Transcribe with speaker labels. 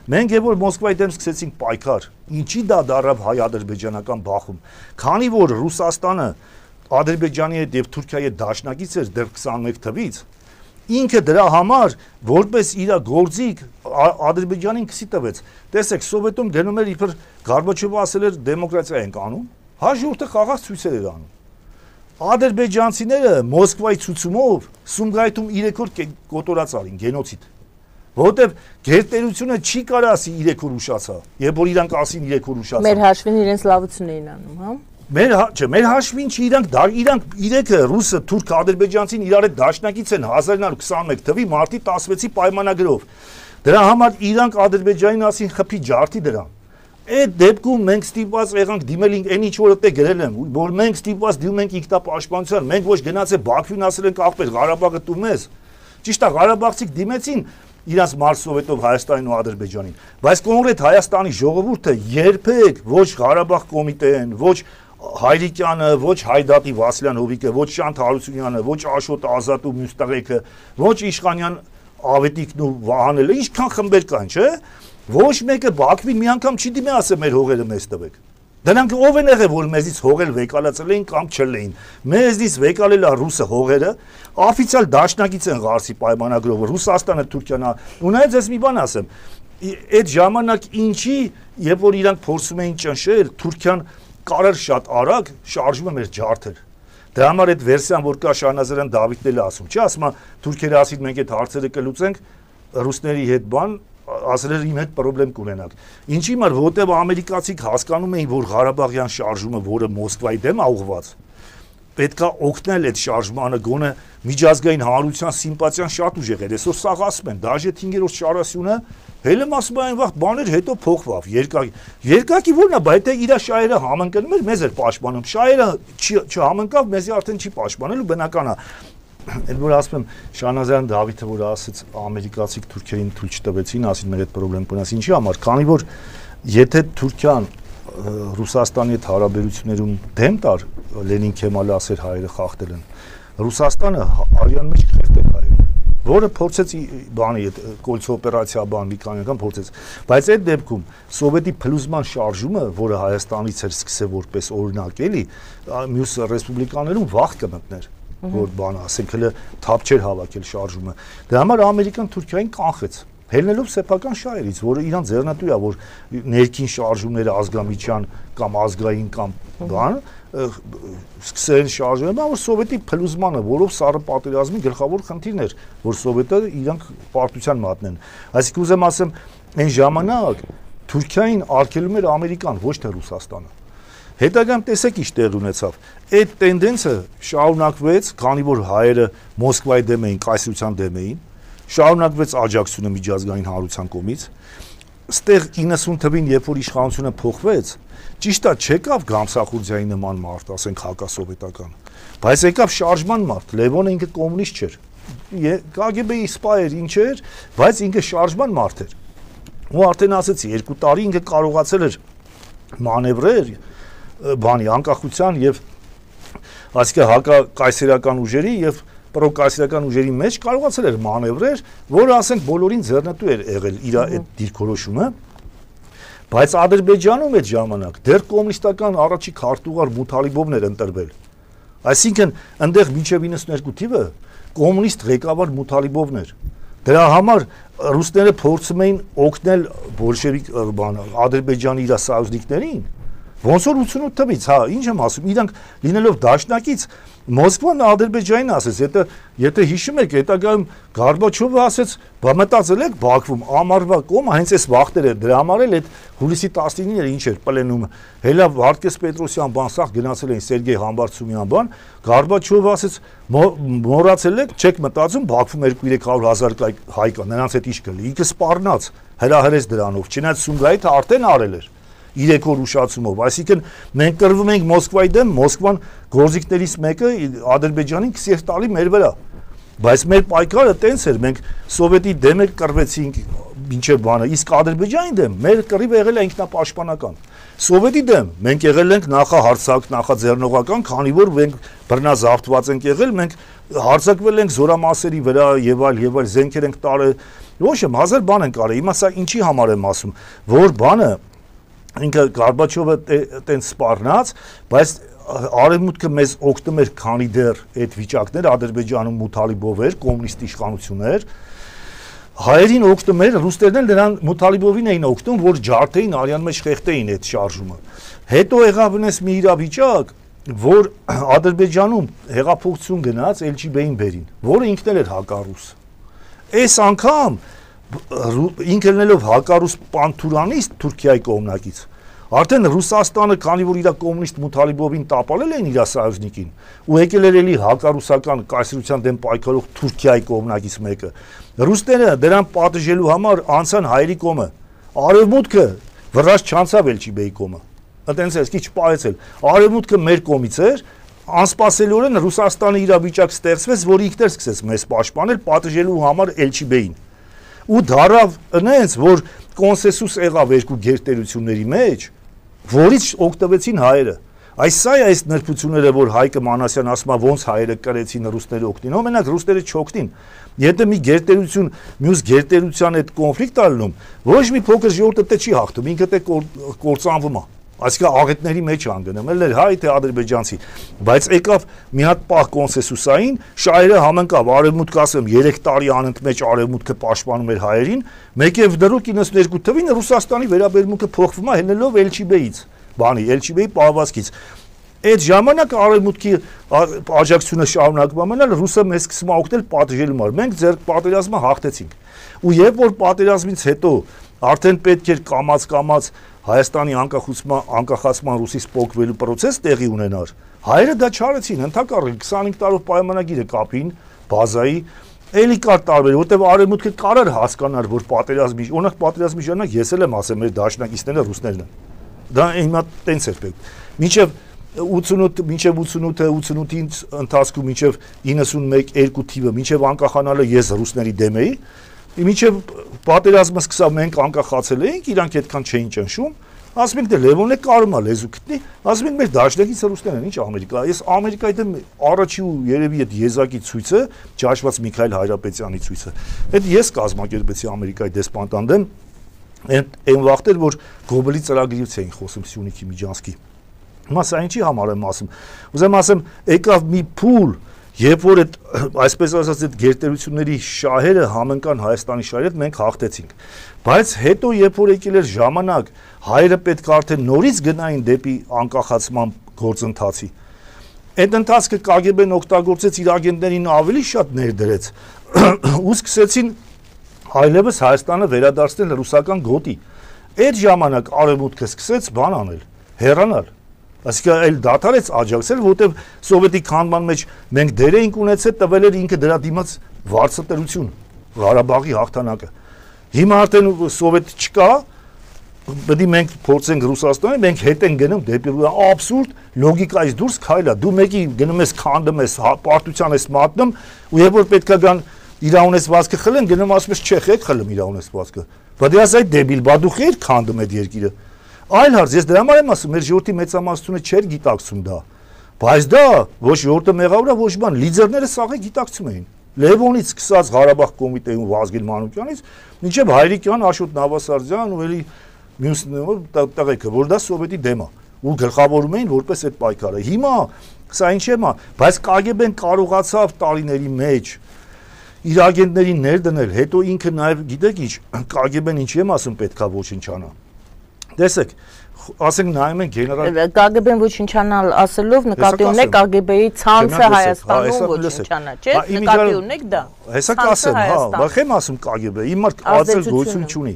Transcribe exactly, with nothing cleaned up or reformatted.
Speaker 1: Մենք երբ որ Մոսկվայի դեմ սկսեցինք պայքար, ինչի դա դարավ հայ-ադրբեջանական բախում, քանի որ Ռուսաստանը Ադրբեջանի հետ եւ Թուրքիայի հետ դաշնակից էր դեռ քսանմեկ թվից, ինքը դրա համար որպես իր գործիք Ադրբեջանին քսի տվեց։ Տեսեք, Սովետում գնում էր իբր Գորբաչովը ասել էր դեմոկրատիա ենք անում, հաջորդը խաղաղ ցույցեր էր անում։ Ադրբեջանցիները Մոսկվայի ցուցումով Սումգայիթում երեք օր կոտորած արին գենոցիդ։ Որտեւ գերտերությունը չի կարա ասի երեք օր ուշացա, երբ որ իրանք ասին երեք օր ուշացա։
Speaker 2: Մեր հաշվին իրենց լավություն էին անում, հա։
Speaker 1: Մեր չէ, մեր հաշվին չի իրանք իրանք երեքը ռուսը, թուրքը, ադրբեջանցին իրար հետ դաշնակից են հազար ինը հարյուր քսանմեկ թվի մարտի տասնվեցի պայմանագրով։ Դրա համար իրանք Ադրբեջանին ասին խփի ջարդի դրան։ Այդ դեպքում մենք ստիպված եղանք դիմել այն ինչ որ այդտեղ գրել եմ, որ մենք ստիպված դիմում ենք ինքնապաշտպանության, մենք ոչ գնացել Բաքվին ասել ենք ախպեր Ղարաբաղը տու մեզ։ Ճիշտ է, ղարաբաղցիք դիմեցին իրանց մարսովետով Հայաստանին ու Ադրբեջանին, բայց կոնկրետ Հայաստանի ժողովուրդը երբեք ոչ Ղարաբաղ կոմիտեն, ոչ Հայրիկյանը, ոչ Հայդատի Վասիլյան Հովիկը, ոչ Շանթ Հարությունյանը, ոչ Աշոտ Ազատ ու մյուս տղեկը, ոչ Իշխանյան Ավետիքն ու Վահանելը, ինչքան խմբեր կան, չէ՞։ Ոչ մեկը Բաքվին մի անգամ չի դիմի ասել մեր հողերը մեզ տվեք։ Դրանք ով են եղել, որ մեզից հողեր վեկալացել էին կամ չլեին։ Մեզից վեկալել է ռուսը հողերը, օֆիցիալ դաշնակից են Ղարսի պայմանագրով, Ռուսաստանը, Թուրքիան, ու նայած ես մի բան ասեմ, այդ ժամանակ ինչի, երբ որ իրանք փորձում էին ճնշել, Թուրքիան կարար շատ արագ շարժում է մեր ջարդեր։ Դրա համար այդ վերսիան, որ կա Շահնազարյան Դավիթն էլ ասում, չի ասում, թուրքերը ասին մենք այդ հարցերը կլուծենք, ռուսների հետ բան ասել էր իմ հետ պրոբլեմ կունենաք։ Ինչի համար, որտեղ ամերիկացիք հասկանում էին, որ Ղարաբաղյան շարժումը, որը Մոսկվայի դեմ է ուղղված, պետքա օգնել այդ շարժմանը, գոնե միջազգային հանրության սիմպաթիան շատ ուժեղ էր։ Այսօր սաղ ասում են, դաժե հինգերորդ շարասյունը հելեմ ասում այն վաղ բաներ հետո փոխվավ, երկակի։ Երկակի ո՞րն է, բայց դա իր շահերը համընկնում էր, մեզ էր պաշտպանում։ Շահերը չհամընկավ, մեզի արդեն չի պաշտպանելու, բնական է։ Էլ որ ասում եմ Շահնազարյան Դավիթը, որ ասեց ամերիկացիք թուրքերին թույլ չտվեցին, ասին մեր այդ պրոբլեմ կունես, ինչի համար, քանի որ եթե Թուրքիան Ռուսաստանի հետ հարաբերություններում դեմ տար, Լենին Քեմալը ասեր հայերը խախտել են, Ռուսաստանը արյան մեջ խեղդել հայերը, որը փորձեց բանի այդ կոլցո օպերացիա բան մի քանի անգամ փորձեց, բայց այդ դեպքում սովետի փլուզման շարժումը, որը Հայաստանից էր սկսել որպես օրինակ էլի, մյուս ռեսպուբլիկաներում վաղ կմտներ, որ բան ասենք հələ թափ չէր հավաքել շարժումը։ Դրա համար Ամերիկան Թուրքիային կանխեց, հելնելով սեփական շահերից, որը իրան ձեռնտու է, որ ներքին շարժումները ազգամիջյան կամ ազգային կամ բան սկսեն շարժել, որ սովետի փլուզմանը, որով սառը պատերազմի գլխավոր խնդիրն էր, որ սովետը իրանք պարտության մատնեն։ Այսինքն ուզեմ ասեմ, այն ժամանակ Թուրքիային արգելում էր Ամերիկան, ոչ թե Ռուսաստանը։ Հետագայում տեսեք ինչ տեղ ունեցավ։ Այդ տենդենսը շարունակվեց, քանի որ հայերը Մոսկվայի դեմ էին, կայսրության դեմ էին, շարունակվեց աջակցությունը միջազգային հանրության կողմից։ Ստեղ իննսուն թվին, երբ որ իշխանությունը փոխվեց, ճիշտ է, չեկավ Գամսախուրդիայի նման մարդ, ասենք հակասովետական, բայց եկավ շարժման մարդ, Լևոնը ինքը կոմունիստ չէր։ Կա գե բի-ի սպա էր, ինչ էր, բայց ինքը շարժման մարդ էր։ Ու արդեն ասեցի, երկու տարի ինքը կարողացել էր մանևրեր բանի անկախության եւ այսինքն հակակայսերական ուժերի եւ պրոկայսերական ուժերի մեջ կարողացել էր մանևրեր, որը ասենք բոլորին ձեռնտու էր եղել իր այդ դիրքորոշումը, բայց Ադրբեջանում այդ ժամանակ դեռ կոմունիստական առաջի քարտուղար Մութալիբովն էր ընտրվել։ Այսինքն այնտեղ մինչև իննսունհինգ թիվը կոմունիստ ղեկավար Մութալիբովն էր։ Դրա համար ռուսները փորձում էին օգնել բոլշևիկ բան Ադրբեջանի իր սահյուզնիկներին։ Ոնց որ ութսունութ թվից, հա, ինչ եմ ասում, իրանք լինելով դաշնակից Մոսկվան Ադրբեջանին ասեց, եթե եթե հիշում եք, հետագայում Գորբաչովը ասեց, բա մտածել եք Բաքվում ամառվա կոմը հենց այս վախտերը դրա համար էլ այդ հուլիսի տասնինը ինչ էր պլենումը։ Հելա Վարդգես Պետրոսյան բան սաղ գնացել էին Սերգեյ Համբարձումյան բան, Գորբաչովը ասեց, մոռացել եք, չեք մտածում Բաքվում երկու-երեք հարյուր հազար հայ կա, նրանց հետ ինչ կլինի։ Ինքը սպառնաց, հրահրեց դրանով, չնայած Սումգայիթը արդեն արել էր երեք օր ուշացումով, այսինքն մենք կռվում ենք Մոսկվայի դեմ, Մոսկվան գործիքներից մեկը Ադրբեջանին քսեր տալի մեր վրա, բայց մեր պայքարը տենց էր, մենք սովետի դեմ էլ կռվեցինք մինչև բանը, իսկ Ադրբեջանի դեմ մեր կռիվը եղել է ինքնապաշտպանական, սովետի դեմ մենք եղել ենք նախահարձակ, նախաձեռնողական, քանի որ մենք բռնազավթված ենք եղել, մենք հարձակվել ենք զորամասերի վրա եւ այլ եւ այլ զենքեր ենք տարել, ոչ եմ հազար բան են կարել, հիմա սա ինչի համար եմ ասում, որ բանը ինքը Գորբաչովը տենց սպառնաց, բայց Արևմուտքը մեզ օգնում էր, քանի դեռ այդ վիճակներ Ադրբեջանում Մութալիբով էր, կոմունիստ իշխանություն էր, հայերին օգնում էր, ռուսներն էլ նրան Մութալիբովին էին օգնում, որ ջարդեին արյան մեջ խեղդեին այդ շարժումը։ Հետո եղավ նես մի իրավիճակ, որ Ադրբեջանում հեղափոխություն գնաց Էլչիբեին բերին, որը ինքն էլ էր հակառուս։ Այս անգամ ինքը ելնելով հակառուս պանթուրանիստ Թուրքիայի կողմնակից, արդեն Ռուսաստանը, քանի որ իր կոմունիստ Մութալիբովին տապալել էին իր սայոզնիկին, ու եկել էր էլի հակառուսական կայսրության դեմ պայքարող Թուրքիայի կողմնակից մեկը, ռուսները դրան պատժելու համար անցան հայերի կողմը, արևմուտքը վրաս չանցավ Էլչիբեի կողմը, այտենց էս քիչ պայեցել, արևմուտքը մեր կողմից էր, անսպասելիորեն Ռուսաստանը իր վիճակ ստեղծվեց, որ ինքն էր սկսեց մեզ պաշտպանել պատժելու համար Էլչիբեին, ու դարավ նենց, որ կոնսենսուս եղավ երկու գերտերությունների մեջ, որից օգտվեցին հայերը։ Այս սա է այս նրբությունները, որ Հայկը Մանասյան ասում է, ոնց հայերը կրեցին ռուսները օգտին, մենակ ռուսները չօգտին։ Եթե մի գերտերություն մյուս գերտերության հետ կոնֆլիկտ ալնում, ոչ մի փոքր ժողովուրդը դե չի հաղթում, ինքը դե կործանվում է։ Այսինքն աղետների մեջ անգնում, էլ էր հայ թե ադրբեջանցի, բայց եկավ մի հատ պահ կոնսենսուսային, շահերը համընկավ, արևմուտքը ասեմ երեք տարի անընդմեջ արևմուտքը պաշտպանում էր հայերին, մեկ եւ դրոք իննսուններկու թվին Ռուսաստանի վերաբերմունքը փոխվում է հելնելով Էլչիբեից, բանի Էլչիբեի պահվածքից։ Այդ ժամանակ արևմուտքի աջակցությունը շարունակվում մնալ, ռուսը մեզ սկսում է օգնել պատժելու համար։ Մենք ձեր պատերազմը հաղթեցինք։ Ու երբ որ պատերազմից հետո արդեն պետք էր կամած-կամած Հայաստանի անկախացման անկախացման ռուսից փոխվելու process տեղի ունենար։ Հայերը դա չարեցին, ընդհակառակը քսանհինգ տարով պայմանագիրը կապին, բազայի, էլի կար տարբեր, որտեղ արևմուտքը կարար հասկանար, որ պատերազմի, օրինակ պատերազմի ժամանակ ես էլ եմ ասել, մեր դաշնակիցները ռուսներն են։ Դա հիմա տենց էր պետք։ Մինչև ութսունութ, մինչև ութսունութ, ութսունութից ընթացքում մինչև իննսունմեկ երկու թիվը, մինչև անկախանալը ես ռուսների դեմ էի։ Մինչև պատերազմը սկսավ մենք անկախացել էինք, իրանք այդքան չէին ճնշում, ասում ենք դե Լևոնը կարում է լեզու գտնի, ասում ենք մեր դաշնակիցը ռուսներն են, ինչ Ամերիկա, ես Ամերիկայի դեմ առաջի ու երևի այդ եզակի ցույցը, ճաշված Միքայել Հայրապետյանի ցույցը, այդ ես կազմակերպեցի Ամերիկայի դեսպանտան դեմ, այն վաղտեր, որ Գոբելի ծրագրից էին խոսում Սյունիքի Միջանցքի, հիմա սա ինչի համար եմ ասում, ուզեմ ասեմ, եկավ մի փուլ, Երբ որ այդ այսպես ասած այդ գերտերությունների շահերը համընկան Հայաստանի շահերի հետ մենք հաղթեցինք, բայց հետո երբ որ եկել էր ժամանակ հայերը պետք է արդեն նորից գնային դեպի անկախացման գործընթացի, այդ ընթացքը Կ Գ Բ-ն օգտագործեց իր ագենտներին ավելի շատ ներդրեց ու սկսեցին այլևս Հայաստանը վերադարձնել ռուսական գոտի, այդ ժամանակ արևմուտքը սկսեց բան անել, հեռանալ Այսինքն այլ դադարեց աջակցել, որտեղ սովետի քանդման մեջ մենք դեր էինք ունեցել, տվել էր ինքը դրա դիմաց վարձատրություն, Ղարաբաղի հաղթանակը։ Հիմա արդեն սովետ չկա, պետք է մենք փորձենք Ռուսաստանի, մենք հետ ենք գնում դեպի աբսուրդ լոգիկայից դուրս քայլ է։ Դու մեկի գնում ես քանդում ես, պարտության ես մատնում, ու երբ որ պետքա գան իր ունեցվածքը խլեն, գնում ասում ես չեք եք խլում իր ունեցվածքը։ Բայց դե ասա դեբիլ, բա դու խեր քանդում այդ երկիրը։ Այլ հարց, ես դրա համար եմ ասում, մեր ժողովրդի մեծամասնությունը չէր գիտակցում դա, բայց դա ոչ ժողովուրդը մեղավոր է, ոչ բան, լիդերները սաղը գիտակցում էին։ Լևոնից սկսած Ղարաբաղ կոմիտեում Վազգեն Մանուկյանից, մինչև Հայրիկյան, Աշոտ Նավասարդյան ու էլի մյուս տղեկը, որ դա սովետի դեմ է, ու գլխավորում էին որպես այդ պայքարը։ Հիմա սա ինչ է, բայց Կ Գ Բ-ն կարողացավ տարիների մեջ իր ագենտներին ներդնել, հետո ինքը նաև գիտեք ինչ, Կ Գ Բ-ն ինչի եմ ասում պետքա ոչնչանա։ Տեսեք, ասենք նայում են գեներալ
Speaker 2: Կ Գ Բ-ն ոչնչանալ ասելով նկատի ունեք Կ Գ Բ-ի ցանցը Հայաստանում ոչնչանա, չէ՞, նկատի ունեք դա։
Speaker 1: Հեսա կասեմ, հա, բայց եմ ասում Կ Գ Բ, հիմա արձել գոյություն չունի։